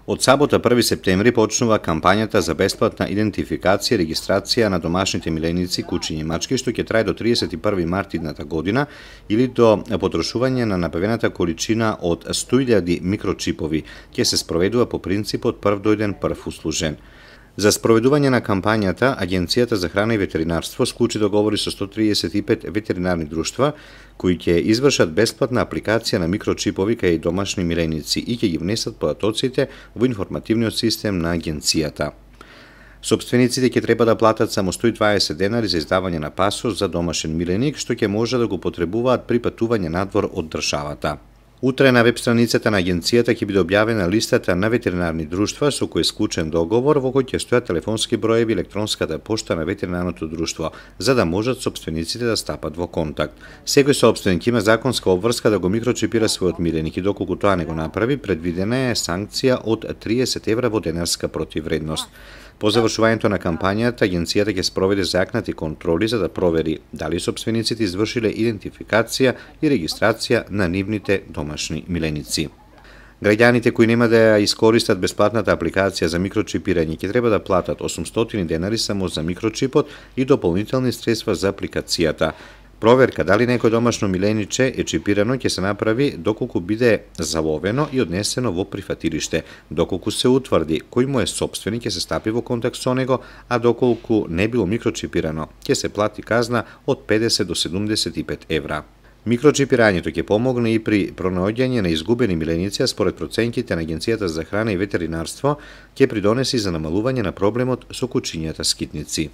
Од сабота 1 септември почнува кампањата за бесплатна идентификација и регистрација на домашните миленици, кучиња и мачки, што ќе трае до 31 март идната година или до потрошување на набавената количина од 100.000 микрочипови. Ќе се спроведува по принципот прв дојден прв услужен. За спроведување на кампањата, Агенцијата за храна и ветеринарство склучи договори со 135 ветеринарни друштва кои ќе извршат бесплатна апликација на микрочипови кај домашни миленици и ќе ги внесат податоците во информативниот систем на агенцијата. Собствениците ќе треба да платат само 120 денари за издавање на пасош за домашен миленик, што ќе може да го потребуваат при патување надвор од државата. Утре на веб страницата на агенцијата ќе биде објавена листата на ветеринарни друштва со кои е склучен договор, во кој ќе стојат телефонски броеви и електронската пошта на ветеринарното друштво, за да можат собствениците да стапат во контакт. Секој собственик има законска обврска да го микрочипира својот миленик и доколку тоа не го направи, предвидена е санкција од 30 евра во денарска противвредност. По завршувањето на кампањата, агенцијата ќе спроведе зајакнати контроли за да провери дали собствениците извршиле идентификација и регистрација на нивните домашни миленици. Граѓаните кои нема да ја искористат бесплатната апликација за микрочипирање ќе треба да платат 800 денари само за микрочипот и дополнителни средства за апликацијата. Проверка дали некој домашно милениче е чипирано ќе се направи доколку биде заловено и однесено во прифатилиште. Доколку се утврди кој му е собственик, ќе се стапи во контакт со него, а доколку не било микрочипирано, ќе се плати казна од 50 до 75 евра. Микрочипирањето ќе помогне и при пронаоѓање на изгубени миленици, а според проценките на Агенцијата за храна и ветеринарство ќе придонеси за намалување на проблемот со кучињата скитници.